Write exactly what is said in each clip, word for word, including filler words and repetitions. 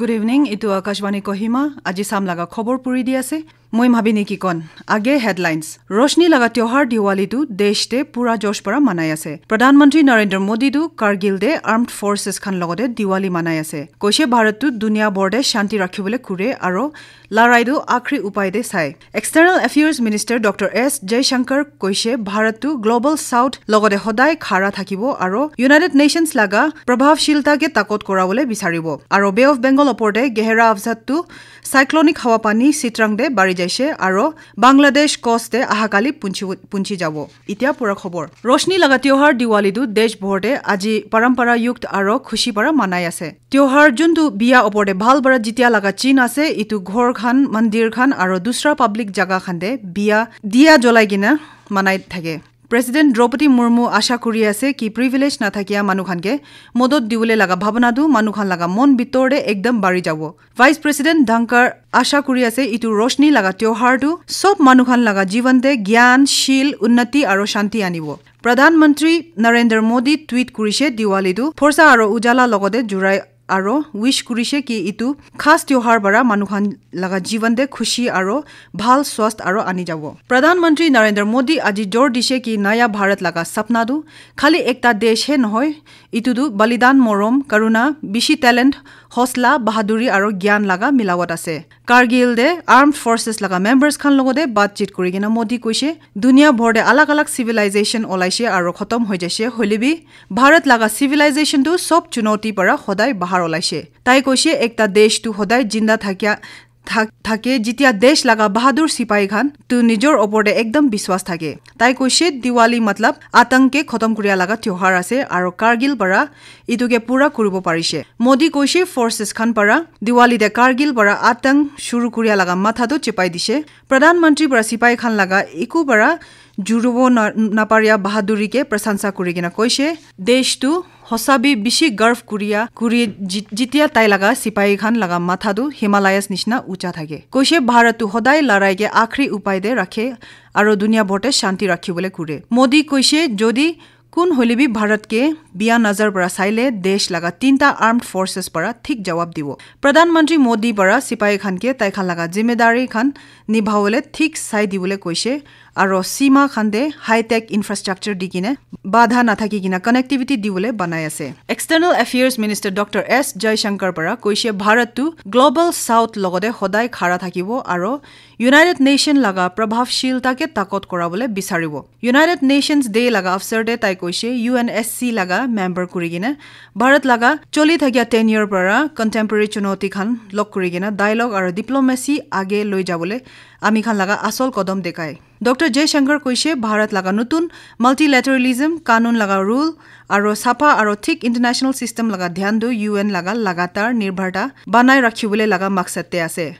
Good evening, itu Akashvani Kohima. Aji sam laga khobor puri di ase. Moi Mabini Kikon. Age headlines. Roshni laga tyohar Diwali tu desh te pura josh para manai ase. Pradhan Mantri Narendra Modi tu Kargil te armed forces khan logote Diwali manai ase. Koishe Bharat tu dunia bor te shanti rakhibole kure aro larai tu akhri upai te sai. External Affairs Minister Doctor S Jaishankar koishe Bharat tu Global South logote hodai khara thakibo aro United Nations laga prabhavshilta ke takot korabole bisaribo. Aro Bay of Bengal oporte gehera afzat tu cyclonic hawa pani Sitrang te bari jaise aro Bangladesh coast te ahakali punchi, punchi jabo. Itya pura khobor. Roshni laga tyohar Diwali tu desh bhor te aji parampara yukt aro khushi para manai ase. Tyohar juntu biya opor te bhal para jitya laga chin ase, itu ghor khan, mandir khan aro dusra public jaga khan te biya diya jolai kena manai thake. President Draupadi Murmu asha kuri ase ki privilege na thakia manu khan ke modot diwole laga bhabana tu manu khan laga mon bitor te ekdam bari jabo. Vice President Dhankar asha kuri ase itu Roshni laga tyohar tu sob manu khan laga jivan te gyan, shil, unnati aro shanti anibo. Pradhan Mantri Narendra Modi tweet kurishe Diwali tu phorsa aro ujala logote jurai aro wish kurishe ki itu khas tyohar para manu khan laga jivan te khushi aro bhal swast aro ani jabo. Pradhan Mantri Narendra Modi aji jor dishe ki naya Bharat laga sapna tu khali ekta desh he nohoi, itu tu balidan, morom, karuna, bishi talent, hosla, bahaduri aro gyan laga milawat ase. Kargil te armed forces laga members khan logote batchit kuri kena Modi koishe, dunia bhor te alag alag civilization olaishe aro khotom hoi jaishe, hoile bi Bharat laga civilization tu sob chunauti para hodai bahar olaishe. Tai koishe, ekta desh tu hodai jinda thakia thak- thake, jitia desh laga bahadur sipai khan tu nijor opor te ekdam biswas thake. Tai koishe, Diwali matlab atang ke khotom kuria laga tyohar ase aro Kargil para itu ke pura kuribo parishe. Modi koishe, forces khan para Diwali te Kargil para atang shuru kuria laga matha tu chepai dishe. Pradhan Mantri para sipai khan laga eku para jurubo na- naparia bahaduri ke prasansa kuri kena koishe, desh tu hosa bi bishi garv kuria kuri ji- jitia tai laga sipai khan laga matha tu Himalayas nishina ucha thake. Koishe, Bharat tu hodai larai ke akhri upai te rakhe aro dunia bhor te shanti rakhibole kure. Modi koishe, jodi kun hoile bi Bharat ke biya nazar para saile desh laga tinta armed forces para thik jawab dibo. Pradhan Mantri Modi para sipai khan ke tai khan laga zimedari khan nibhawole thik sai dibole koishe aro sima khan te high tech infrastructure di kine badha nathaki kena connectivity dibole banai ase. External Affairs Minister Doctor S Jaishankar para koishe Bharat tu Global South logote hodai khara thakibo aro United Nation laga prabhavshilta ke takot korabole bisaribo. United Nations Day laga avsar te tai koishe U N S C laga member kuri kena Bharat laga choli thakia tenure para contemporary chunauti khan log kuri kena dialogue aro diplomacy age loi jabole ami khan laga asol kodom dekhai. Doctor Jaishankar koishe Bharat laga nutun multilateralism, kanun laga rule aro sapha aro thik international system laga dhyan tu U N laga lagatar nirbharta banai rakhibole laga maksad te ase.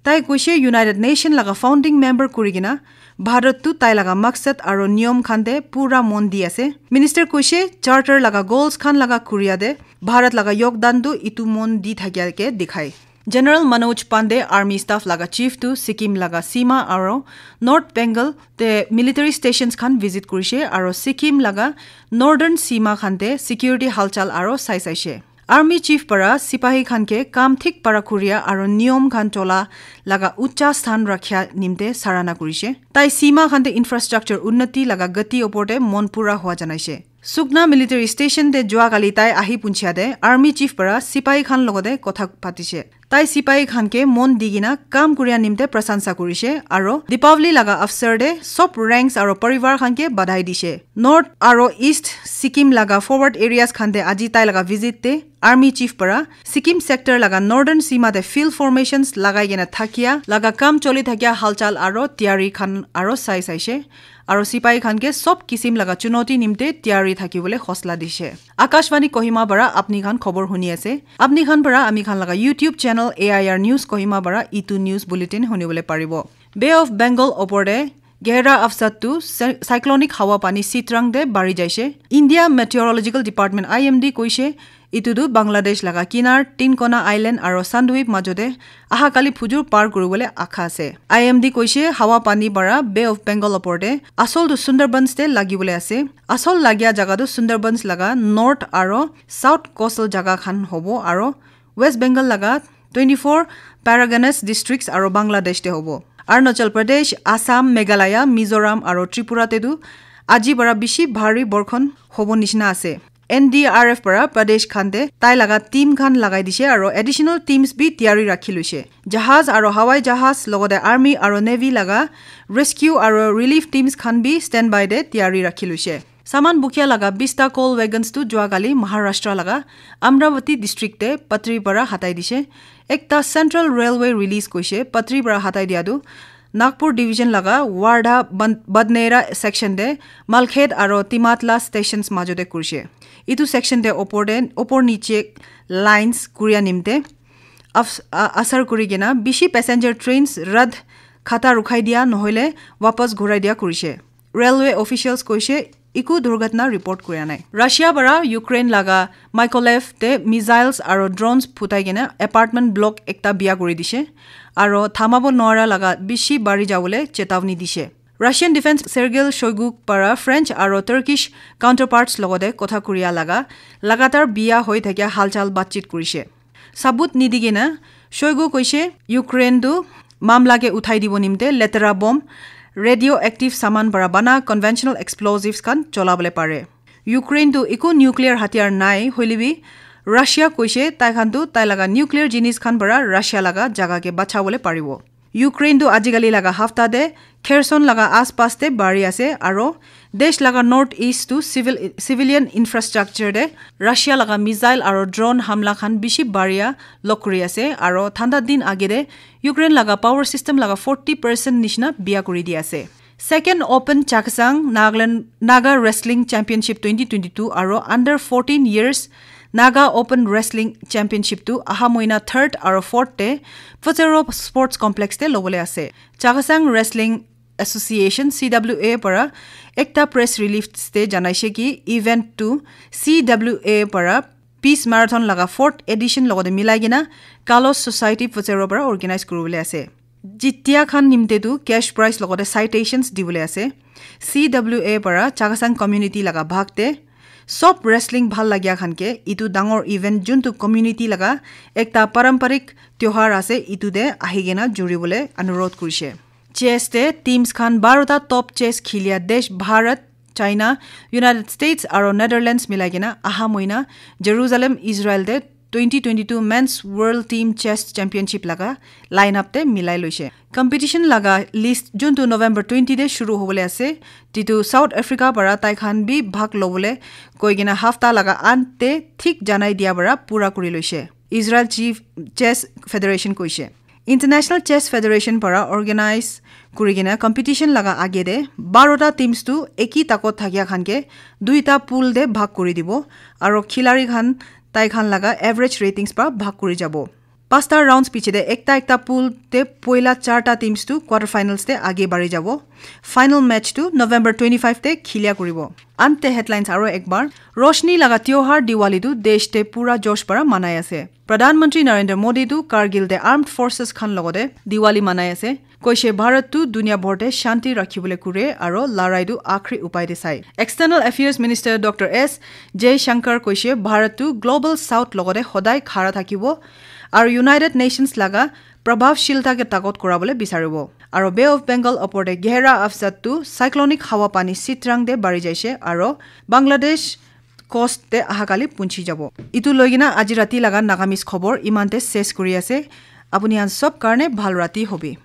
Tai koishe United Nation laga founding member kuri kena Bharat tu tai laga maksad aro niyom khan te pura mon di ase. Minister koishe charter laga goals khan laga kuria te Bharat laga yogdan tu itu mon di thakia ke dikhai. General Manoj Pandey, army staff laga chief tu Sikkim laga sima aro North Bengal te military stations khan visit kurishe aro Sikkim laga northern sima khan te security halchal aro sai saishe. Army chief para sipahi khan ke kam thik para kuria aro niyom khan chola laga ucha sthan rakhia nimte sarana kurishe. Tai sima khan te infrastructure unnati laga gati opor te mon pura hua janaishe. Sukna military station te jua kali tai ahi punchia te army chief para sipahi khan logote kotha patishe. Tai sipahi khan ke mon di kena kam kuria nimte prasansa kurishe aro Deepavali laga avsar te sob ranks aro parivar khan ke badhai dishe. North aro East Sikkim laga forward areas khan te aji tai laga visit te army chief para Sikkim sector laga northern sima te field formations lagai kena thakia laga kam choli thakia halchal aro tiyari khan aro sai saishe. Aro sipahi khan ke sob kisim laga chunauti nimte tiyari thakibole hosla dishe. Akashvani Kohima para apni khan khobor huni ase. Apni khan para ami khan laga YouTube channel A I R News Kohima para itu news bulletin hunibole paribo. Bay of Bengal opor te gehra afsat tu cy- cyclonic hawa pani Sitrang te bari jaishe. India Meteorological Department I M D koishe itu tu Bangladesh laga kinar, Tinkona Island aro Sandwip majote aha kali phujur par kuribole akha ase. I M D koishe hawa pani para Bay of Bengal opor te asol tu Sundarbans te lagibole ase. Asol lagia jaga tu Sundarbans laga north aro south coastal jaga khan hobo aro West Bengal laga twenty-four Paraganas districts aro Bangladesh te hobo. Arunachal Pradesh, Assam, Meghalaya, Mizoram aro Tripura te tu aji bara bishi bhari borkhon hobo nishina ase. N D R F para Pradesh khan te tai laga team khan lagai dishe aro additional teams bi tiyari rakhi loishe. Jahaz aro hawai jahaz logote army aro navy laga rescue aro relief teams khan bi standby te tiyari rakhi loishe. Saman bukia laga bista coal wagons tu jua kali Maharashtra laga Amravati district te Patri para hatai dishe. Ekta Central Railway release koishe Patri para hatai dia tu Nagpur division laga Wardha Ban- Badnera section te Malkhet aro Timatla stations majo te kurishe. Itu section te opor te opor niche lines kuria nimte af- a- asar kuri kena bishi passenger trains rat khata rukhai dia nohoile wapas ghurai dia kurishe. Railway officials koishe iku durghatna report kuria nai. Russia para Ukraine laga Mykolaiv te missiles aro drones phutai kena apartment block ekta biya kuri dishe aro thamabo nwara laga bishi bari jawole chetawni dishe. Russian Defense Sergei Shoigu para French aro Turkish counterparts logote kotha kuria laga lagatar biya hoi thakia halchal batchit kurishe. Sabut nidigena Shoigu koishe Ukraine tu mamla ke uthai dibo nimte letera bomb, radioactive saman para bana conventional explosives khan cholabole pare. Ukraine tu iku nuclear hatiyar nai hoile bi Russia koishe tai khan tu tai laga nuclear jinis khan para Russia laga jaga ke bachabole paribo. Ukraine tu ajikali laga hafta te Kherson laga aspas te bari ase aro desh laga north east tu civil civilian infrastructure te Russia laga missile aro drone hamla khan bishi baria lok kuri ase aro thanda din age te Ukraine laga power system laga forty percent nishina biya kuri di ase. Second Open Chakhesang Nagaland Naga Wrestling Championship twenty twenty-two aro under fourteen years Naga Open Wrestling Championship tu aha moina third aro fourth te Pfutsero Sports Complex te lobole ase. Chakhesang Wrestling Association C W A para ekta press release te janaishe ki event tu C W A para Peace Marathon laga fourth edition logote milai kena Kalos Society Pfutsero para organize kuribole ase. Jitia khan nimte tu cash prize logote citations dibole ase. C W A para Chakhesang community laga bhag te sob wrestling bhal lagia khan ke itu dangor event juntu community laga ekta paramparik tyohar ase itu te ahi kena juribole anurodh kurishe. Chess te teams khan barota top chess khilia desh Bharat, China, United States aro Netherlands milai kena aha moina Jerusalem, Israel te twenty twenty-two Men's World Team Chess Championship laga lineup te milai loishe. Competition laga list juntu November twenty te shuru hobole ase, titu South Africa para tai khan bi bhag lobole koi kena hafta laga ant te thik janai dia para pura kuri loishe. Israel Chief Chess Federation koishe. International Chess Federation para organize kuri kena competition laga age te barota teams tu eki takot thakia khan ke duita pool te bhag kuri dibo aro khilari khan tai khan laga average ratings para bhag kuri jabo. Pasta rounds piche te ekta ekta pool te poila charta teams tu quarter finals te age bari jabo. Final match tu November twenty-five te khilia kuribo. Ante headlines aro ekbar, Roshni laga tyohar Diwali tu desh te pura josh para manai ase. Pradhan Mantri Narendra Modi tu Kargil te armed forces khan logote Diwali manai ase. Koishe Bharat tu dunia bhor te shanti rakhibole kure aro larai tu akhri upai te sai. External Affairs Minister Doctor S Jaishankar koishe Bharat tu Global South logote hodai khara thakibo aro United Nations laga prabhavshilta ke takot korabole bisaribo. Aro Bay of Bengal opor te gehra afzat tu cyclonic hawa pani sitrang te bari jaishe aro Bangladesh coast te ahakali punchi jabo. Itu loigina aji rati laga Nagamese khobor imante ses kuri ase. Apuni han sob karne bhal rati hobi.